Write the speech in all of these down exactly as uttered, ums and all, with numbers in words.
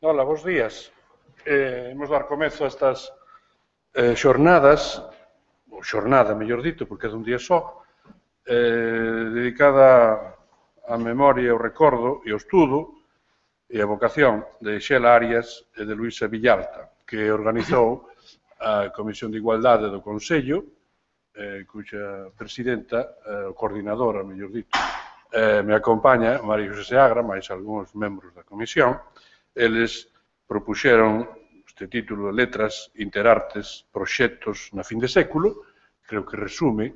Ola, bons días. Eh, imos dar comezo a estas eh, xornadas, ou xornada, mellor dito, porque é dun día só, eh, dedicada á memoria, ao recordo e ao estudo e a vocación de Xela Arias e de Luisa Villalta, que organizou a Comisión de Igualdade do Consello, eh, cuxa presidenta, eh, coordinadora, mellor dito, eh, me acompaña María José Seagra, máis algúns membros da comisión. Eles propuxeron este título de Letras, Interartes, Proxectos na fin de século, creo que resume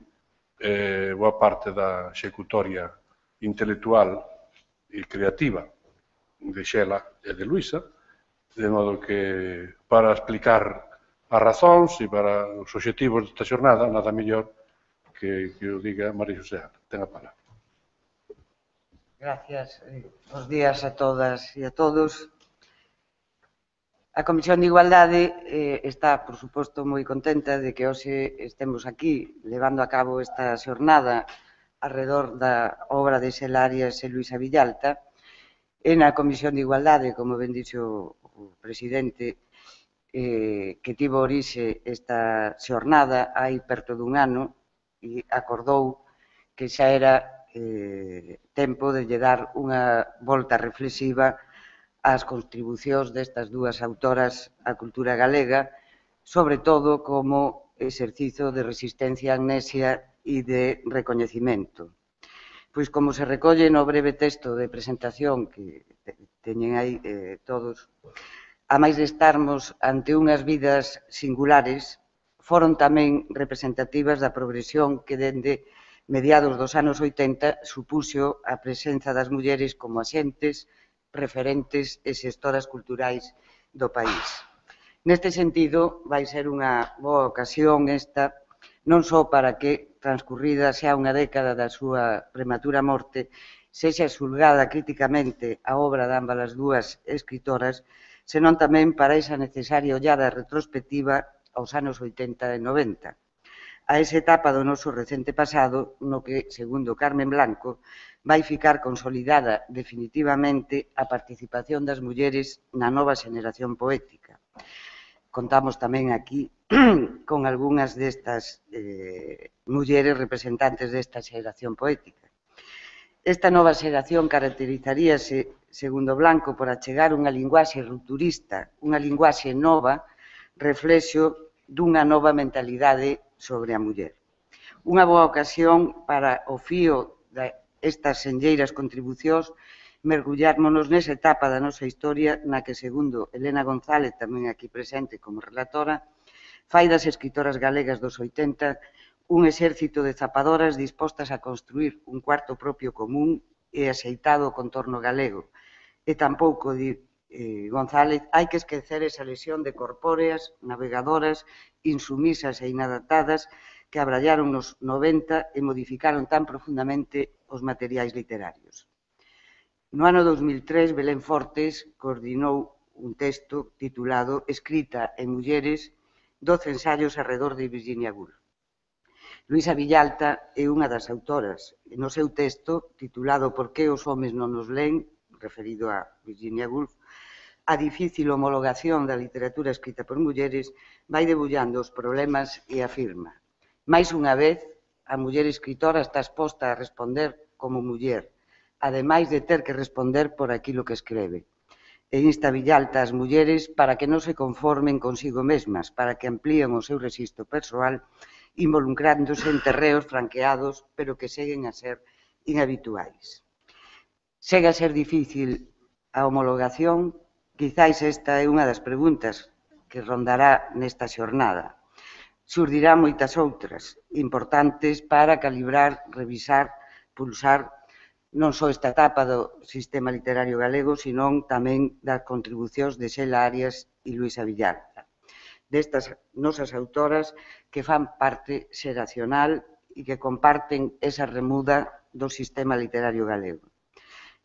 eh, boa parte da executoria intelectual e creativa de Xela e de Luisa, de modo que para explicar as razóns e para os obxectivos desta xornada, nada mellor que, que o diga María José Seagra. Ten a palabra. Gracias. Bos días a todas e a todos. A Comisión de Igualdade eh, está, por suposto, moi contenta de que hoxe estemos aquí levando a cabo esta xornada alrededor da obra de Xela Arias e Luisa Villalta. E na Comisión de Igualdade, como ben dixo o presidente, eh, que tivo orixe esta xornada hai perto dun ano e acordou que xa era eh, tempo de lle dar unha volta reflexiva ás contribucións destas dúas autoras á cultura galega, sobre todo como exercizo de resistencia a amnesia e de recoñecimento. Pois como se recolle no breve texto de presentación que teñen aí eh, todos, a máis de estarmos ante unhas vidas singulares, foron tamén representativas da progresión que dende mediados dos anos oitenta supuxo a presenza das mulleres como axentes, referentes e xestoras culturais do país. Neste sentido, vai ser unha boa ocasión esta, non só para que, transcurrida xa unha década da súa prematura morte, sexa xulgada críticamente a obra de ambas as dúas escritoras, senón tamén para esa necesaria ollada retrospectiva aos anos oitenta e noventa, a esa etapa do noso recente pasado no que, segundo Carmen Blanco, vai ficar consolidada definitivamente a participación das mulleres na nova xeneración poética. Contamos tamén aquí con algunhas destas eh, mulleres representantes desta xeración poética. Esta nova xeración caracterizaríase, segundo Blanco, por achegar unha linguaxe rupturista, unha linguaxe nova, reflexo dunha nova mentalidade sobre a muller. Unha boa ocasión para o fío destas senlleiras contribucións mergullármonos nesa etapa da nosa historia na que, segundo Elena González, tamén aquí presente como relatora, fai das escritoras galegas dos oitenta un exército de zapadoras dispostas a construir un cuarto propio común e axeitado o contorno galego. E tampouco, di eh, González, hai que esquecer esa lesión de corpóreas, navegadoras, insumisas e inadaptadas que abrallaron nos noventa e modificaron tan profundamente os materiais literarios. No ano dos mil tres, Belén Fortes coordinou un texto titulado Escrita en mulleres, doce ensaios arredor de Virginia Woolf. Luisa Villalta é unha das autoras. No seu texto, titulado Por que os homes non nos leen, referido a Virginia Woolf, a difícil homologación da literatura escrita por mulleres vai debullando os problemas e afirma: máis unha vez, a muller escritora está exposta a responder como muller, ademais de ter que responder por aquilo que escreve. E insta Villalta ás mulleres para que non se conformen consigo mesmas, para que amplíen o seu rexistro persoal, involucrándose en terreos franqueados, pero que seguen a ser inhabituais. Segue a ser difícil a homologación. Quizáis esta é unha das preguntas que rondará nesta xornada. Xurdirá moitas outras, importantes para calibrar, revisar, pulsar non só esta etapa do sistema literario galego, senón tamén das contribucións de Xela Arias e Luisa Villalta, destas nosas autoras que fan parte xeracional e que comparten esa remuda do sistema literario galego.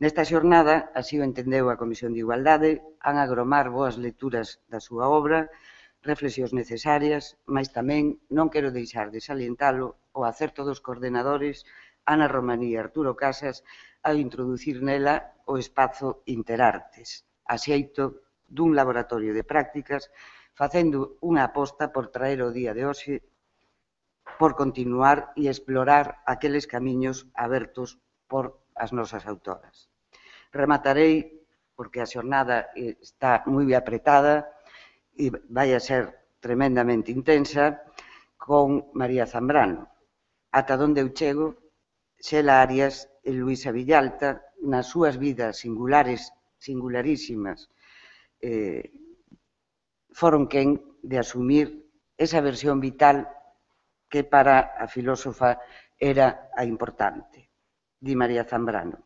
Nesta xornada, así o entendeu a Comisión de Igualdade, han agromar boas lecturas da súa obra, reflexións necesarias, mas tamén non quero deixar de salientalo o acerto dos coordenadores Ana Romaní e Arturo Casas ao introducir nela o espazo Interartes, axeito dun laboratorio de prácticas, facendo unha aposta por traer o día de hoxe, por continuar e explorar aqueles camiños abertos por as nosas autoras. Rematarei, porque a xornada está moi apretada e vai a ser tremendamente intensa, con María Zambrano. Ata onde eu chego, Xela Arias e Luisa Villalta, nas súas vidas singulares, singularísimas, eh, foron quen de asumir esa versión vital que para a filósofa era a importante, di María Zambrano.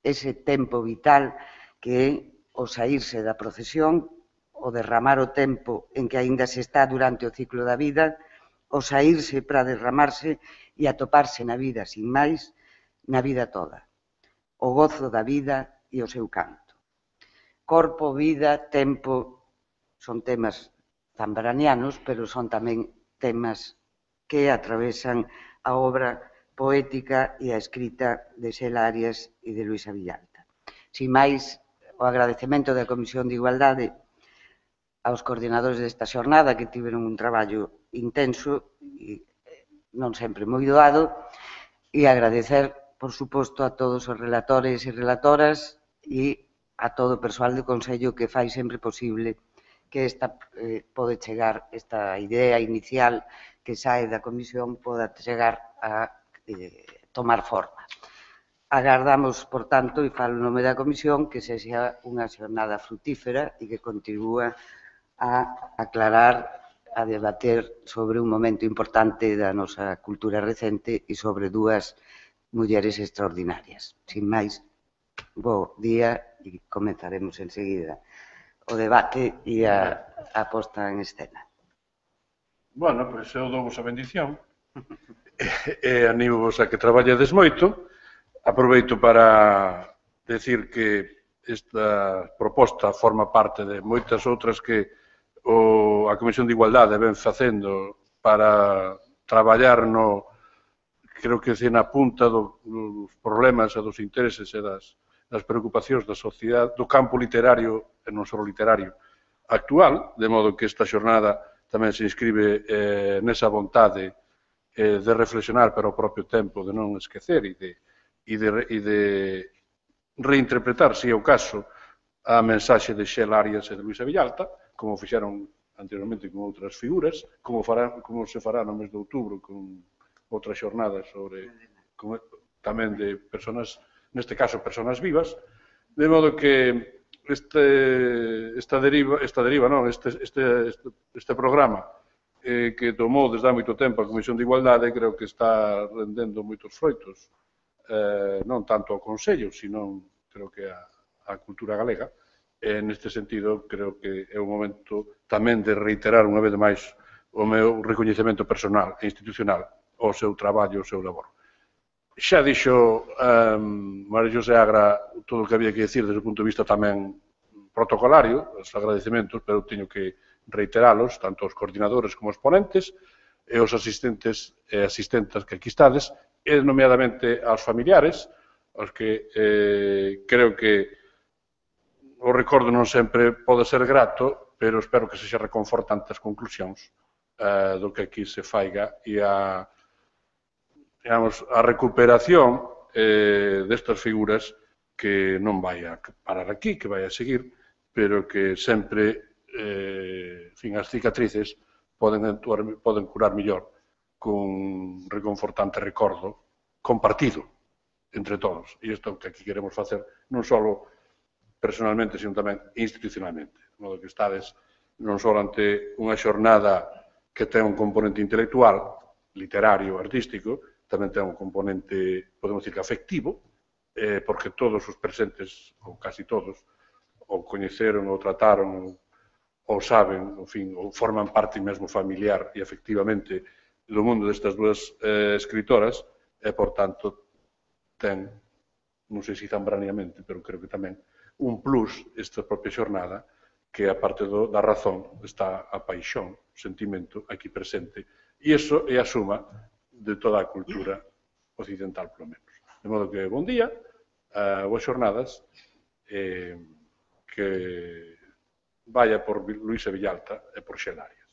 Ese tempo vital que é o saírse da procesión, o derramar o tempo en que aínda se está durante o ciclo da vida, o saírse para derramarse e atoparse na vida sin máis, na vida toda. O gozo da vida e o seu canto. Corpo, vida, tempo, son temas zambranianos, pero son tamén temas que atravesan a obra poética e a escrita de Xela Arias e de Luisa Villalta. Sin máis, o agradecemento da Comisión de Igualdade aos coordinadores desta xornada que tiveron un traballo intenso e non sempre moi doado, e agradecer, por suposto, a todos os relatores e relatoras e a todo o persoal do Consello que fai sempre posible que esta eh, pode chegar, esta idea inicial que sae da Comisión poda chegar a eh, tomar forma. Agardamos, por tanto, e falo en nome da Comisión, que sexa unha xornada frutífera e que contribúa a aclarar, a debater sobre un momento importante da nosa cultura recente e sobre dúas mulleres extraordinarias. Sin máis, bo día e comenzaremos enseguida o debate e a, a posta en escena. Bueno, pois eu dou vos a bendición e animo vos a que traballedes moito. Aproveito para decir que esta proposta forma parte de moitas outras que o, a Comisión de Igualdade ven facendo para traballar no, creo que na punta do, dos problemas e dos intereses e das, das preocupacións da sociedade, do campo literario e non só literario actual, de modo que esta xornada tamén se inscribe eh, nesa vontade eh, de reflexionar, pero ao propio tempo de non esquecer e de, e de, e de reinterpretar, se é o caso, a mensaxe de Xela Arias e de Luisa Villalta, como fixeron anteriormente con outras figuras, como, fará, como se fará no mes de outubro con outras xornadas sobre con, tamén de personas, neste caso, personas vivas, de modo que este, esta deriva, esta deriva non, este, este, este, este programa eh, que tomou desde há moito tempo a Comisión de Igualdade, creo que está rendendo moitos froitos, eh, non tanto ao Consello, sino creo que a, a cultura galega. E, neste sentido, creo que é o momento tamén de reiterar unha vez máis o meu recoñecemento personal e institucional ao seu traballo e ao seu labor. Xa dixo um, María José Agra todo o que había que decir desde o punto de vista tamén protocolario, os agradecementos, pero teño que reiteralos, tanto aos coordinadores como aos ponentes, e aos asistentes e asistentas que aquí estades, e nomeadamente aos familiares, aos que eh, creo que o recordo non sempre pode ser grato, pero espero que sexa reconfortante as conclusións uh, do que aquí se faiga e a, digamos, a recuperación eh, destas figuras que non vai a parar aquí, que vai a seguir, pero que sempre eh, fin, as cicatrices poden, actuar, poden curar mellor cun reconfortante recordo compartido entre todos. E isto que aquí queremos facer non só personalmente, sino tamén institucionalmente. De modo que estades non só ante unha xornada que ten un componente intelectual, literario, artístico, tamén ten un componente, podemos dicir, afectivo, eh, porque todos os presentes, ou casi todos, ou coñeceron, ou trataron, ou saben, en fin, ou forman parte mesmo familiar e afectivamente do mundo destas dúas eh, escritoras, e, por tanto, ten, non sei se zambraniamente, pero creo que tamén, un plus esta propia xornada que, a parte do, da razón, está a paixón, o sentimento aquí presente. E iso é a suma de toda a cultura occidental, polo menos. De modo que, bon día, uh, boas xornadas, eh, que vaya por Luisa Villalta e por Xenarias.